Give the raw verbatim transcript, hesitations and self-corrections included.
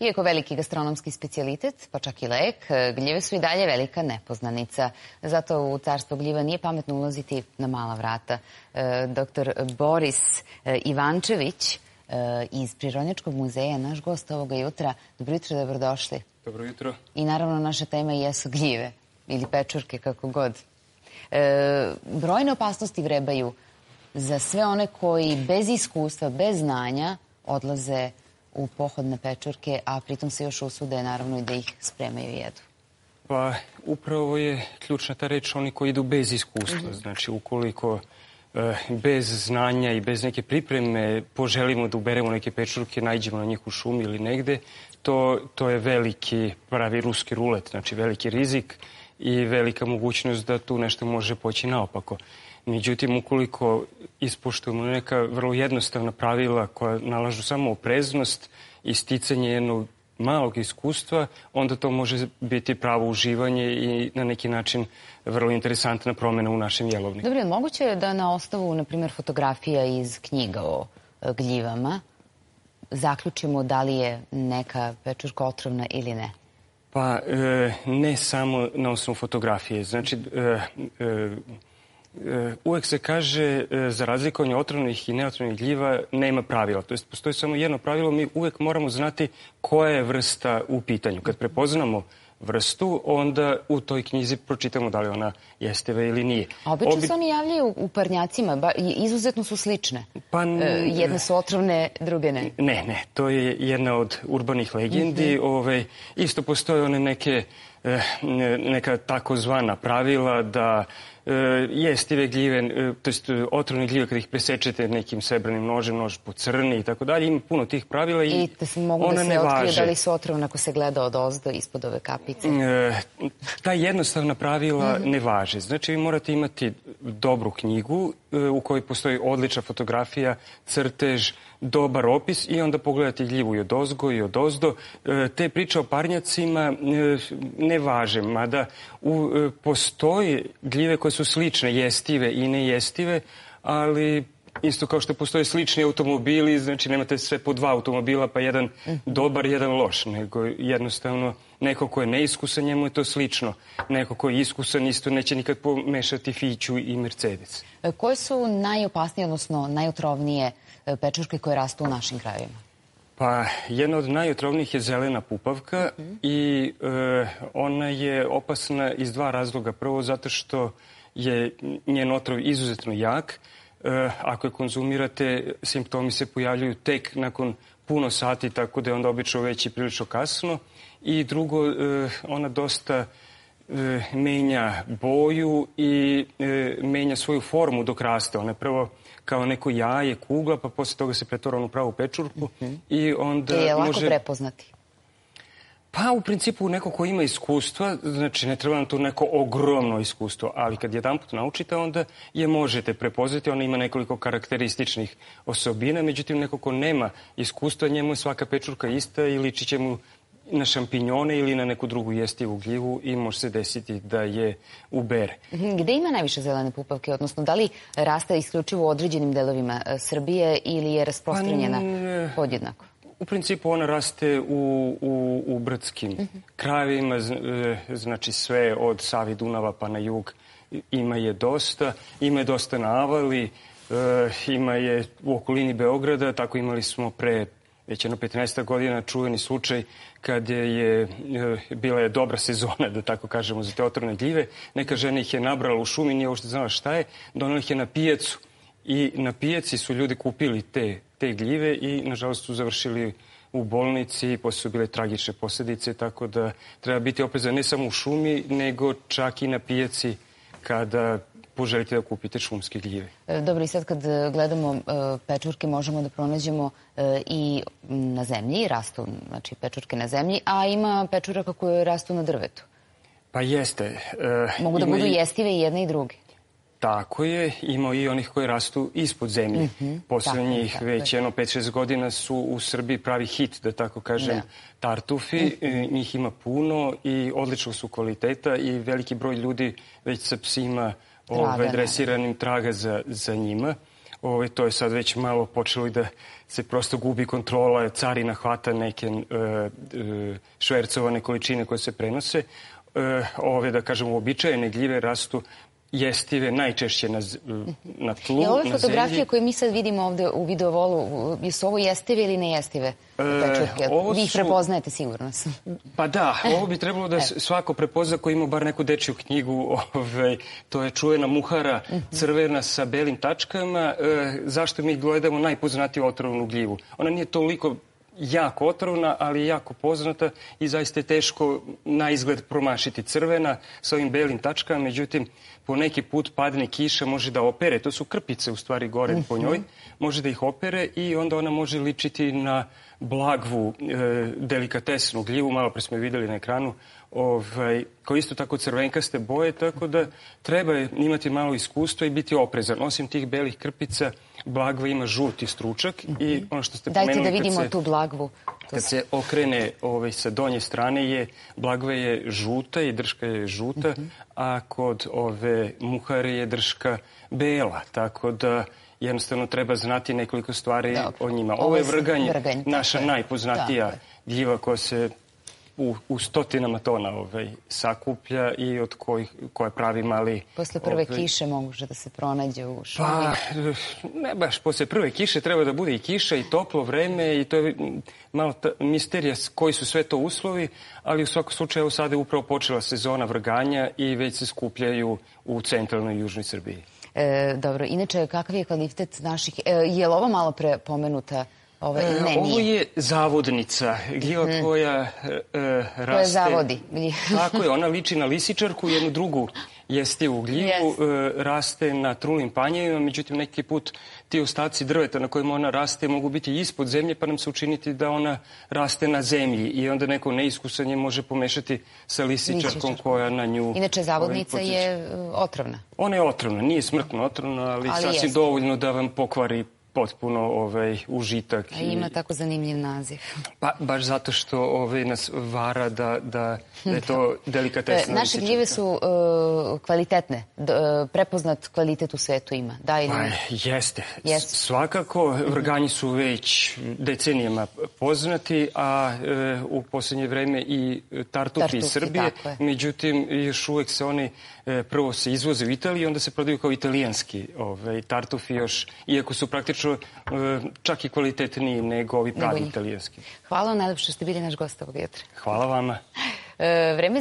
Iako veliki gastronomski specijalitet, pa čak i lek, gljive su i dalje velika nepoznanica. Zato u carstvo gljiva nije pametno ulaziti na mala vrata. Doktor Boris Ivančević iz Prirodnjačkog muzeja, naš gost ovoga jutra. Dobro jutro, dobrodošli. Dobro jutro. I naravno naša tema jesu gljive ili pečurke, kako god. Brojne opasnosti vrebaju za sve one koji bez iskustva, bez znanja odlaze u pohod na pečurke, a pritom se još usude naravno i da ih spremaju i jedu. Pa upravo je ključna ta reč oni koji idu bez iskustva. Znači ukoliko bez znanja i bez neke pripreme poželimo da uberemo neke pečurke, naiđemo na njih u šumi ili negde, to, to je veliki, pravi ruski rulet, znači veliki rizik i velika mogućnost da tu nešto može poći naopako. Međutim, ukoliko ispoštujemo neka vrlo jednostavna pravila koja nalažu samo opreznost i sticanje jednog malog iskustva, onda to može biti pravo uživanje i na neki način vrlo interesantna promjena u našem jelovniku. Dobro, je moguće da na osnovu, na primjer, fotografija iz knjiga o gljivama zaključimo da li je neka pečurka otrovna ili ne? Pa e, ne samo na osnovu fotografije. Znači, e, e, uvek se kaže za razlikovanje otrovnih i neotrovnih gljiva nema pravila. To jest, postoji samo jedno pravilo, mi uvek moramo znati koja je vrsta u pitanju. Kad prepoznamo vrstu, onda u toj knjizi pročitamo da li ona jestiva ili nije. A obično Obi... se oni javljaju u parnjacima, ba, izuzetno su slične. Pa, e, jedne su otrovne, druge ne. Ne, ne, to je jedna od urbanih legendi. Mm-hmm. Ove, isto postoje one neke, neka takozvana pravila da jestive gljive, to jest otrovne gljive kad ih presečete nekim srebrnim nožem, nož pocrni i tako dalje. Ima puno tih pravila i, I da mogu ona da se ne važe. Otkrije da li su otrovne ako se gleda od ozdo ispod ove kapice? E, ta jednostavna pravila mm-hmm. ne važe. Znači vi morate imati dobru knjigu e, u kojoj postoji odlična fotografija, crtež, dobar opis i onda pogledati gljivu i od ozgo i od ozdo. E, te priče o parnjacima e, ne važe, mada u, e, postoji gljive koje su slične, jestive i nejestive, ali isto kao što postoje slični automobili, znači nemate sve po dva automobila, pa jedan dobar, jedan loš, nego jednostavno neko ko je neiskusan, njemu je to slično. Neko ko je iskusan isto neće nikad pomešati Fiću i Mercedes. Koje su najopasnije, odnosno najotrovnije pečurke koje rastu u našim krajevima? Pa jedna od najotrovnijih je zelena pupavka mm-hmm. i e, ona je opasna iz dva razloga. Prvo zato što je njen otrov izuzetno jak. E, ako je konzumirate, simptomi se pojavljuju tek nakon puno sati, tako da je onda obično već i prilično kasno. I drugo, e, ona dosta e, menja boju i e, menja svoju formu dok raste. Ona je prvo kao neko jaje, kugla, pa posle toga se pretvara u pravu pečurku. Mm-hmm. I onda je lako može... prepoznati? Pa u principu neko ko ima iskustva, znači ne treba nam tu neko ogromno iskustvo, ali kad jedanput naučite, onda je možete prepoznati. Ona ima nekoliko karakterističnih osobina, međutim neko ko nema iskustva, njemu je svaka pečurka ista i liči će mu na šampinjone ili na neku drugu jestivu gljivu i može se desiti da je ubere. Gde ima najviše zelene pupavke, odnosno da li raste isključivo u određenim delovima Srbije ili je rasprostranjena pa, podjednako? U principu ona raste u, u, u brdskim mm-hmm. krajevima, znači sve od Save, Dunava pa na jug ima je dosta. Ima je dosta na Avali, ima je u okolini Beograda, tako imali smo pre već jedno petnaest godina čuveni slučaj kad je, je bila je dobra sezona, da tako kažemo, za te otrovne gljive. Neka žena ih je nabrala u šumi, nije uopšte znala šta je, donela ih je na pijacu i na pijaci su ljudi kupili te, te gljive i nažalost su završili u bolnici, posle su bile tragične posljedice, tako da treba biti oprezan ne samo u šumi, nego čak i na pijaci kada poželite da kupite šumske gljive. Dobro, i sad kad gledamo pečurke možemo da pronađemo i na zemlji, rastu znači pečurke na zemlji, a ima pečuraka koje rastu na drvetu. Pa jeste. Mogu da budu jestive i jedne i druge. Tako je, ima i onih koji rastu ispod zemlje. Mm-hmm. Poslednjih tako, već jedno pet šest godina su u Srbiji pravi hit, da tako kažem, ja. tartufi. Mm-hmm. Njih ima puno i odličnog su kvaliteta i veliki broj ljudi već sa psima Ove, dresiranim traga za, za njima. Ove, to je sad već malo počelo i da se prosto gubi kontrola, carina hvata neke e, e, švercovane količine koje se prenose. E, ove, da kažemo, uobičajene gljive rastu jestive najčešće na, na tlu, I ove na fotografije zemlji. koje mi sad vidimo ovde u videovolu, jesu ovo jestive ili nejestive pečurke? ovo Vi ih su- prepoznajete, sigurno sam. Pa da, ovo bi trebalo da s- svako prepozna ko ima bar neku dečju knjigu. Ovaj, to je čuvena muhara crvena sa belim tačkama. E, zašto mi gledamo najpoznatiju otrovnu gljivu? Ona nije toliko jako otrovna, ali je jako poznata i zaista je teško na izgled promašiti. Crvena sa ovim belim tačkama, međutim, po neki put padne kiša, može da opere. To su krpice, u stvari, gore po njoj. Može da ih opere i onda ona može ličiti na blagvu, e, delikatesnu gljivu. Malo pre smo je videli na ekranu, ovaj, koji isto tako crvenkaste boje, tako da treba imati malo iskustva i biti oprezan. Osim tih belih krpica, blagva ima žuti stručak i ono što ste Dajte pomenuli... da kad vidimo se- tu blagvu. Kad se okrene ovaj, sa donje strane, je blagva je žuta i drška je žuta, a kod ove muhare je drška bela. Tako da jednostavno treba znati nekoliko stvari Dobro. o njima. Ovo Ovo je je vrganj, vrganj, naša tako je. najpoznatija Tako gljiva koja se u, u stotinama tona ovaj, sakuplja i od kojih, koja pravi mali... Posle prve ovaj, kiše može da se pronađe u šumi. Pa, ne baš, posle prve kiše treba da bude i kiša i toplo vreme i to je malo ta, misterija s- koji su sve to uslovi, ali u svakom slučaju evo sada je upravo počela sezona vrganja i već se skupljaju u centralnoj i južnoj Srbiji. E, dobro, inače, kakav je kvalitet naših... E, je li ovo malo pre pomenuta? Ove, E, ne, Ovo nije. je zavodnica, gljiva koja e, e, raste... zavodi. Tako je, ona liči na lisičarku, jednu drugu jestivu gljivu, Yes. e, raste na trulim panjevima, međutim neki put ti ostaci drveta na kojima ona raste mogu biti ispod zemlje, pa nam se učiniti da ona raste na zemlji i onda neko neiskusan je može pomešati sa lisičarkom Lisičarkom. koja na nju... Inače, zavodnica ovaj, je e, otrovna. Ona je otrovna, nije smrtno otrovna, ali, Ali sasvim jeste. dovoljno da vam pokvari potpuno ovaj, užitak. A ima tako zanimljiv naziv. Pa, baš zato što ovaj, nas vara da, da, da je to E, delikatesna Naše lisičarka. gljive su e, kvalitetne. D- e, prepoznat kvalitet u svetu ima. Da ili Pa, ne? jeste. Jeste. Svakako, vrganji su već decenijama poznati, a e, u posljednje vreme i tartufi iz Tartufi, Srbije. tako je. Međutim, još uvek se oni e, prvo se izvoze u Italiji, onda se prodaju kao italijanski ovaj, tartufi još, iako su praktično e, čak i kvalitetniji nego ovi pravi njih. italijanski. Hvala vam najlepše što ste bili naš gost ovog jutra. Hvala vama. E, vreme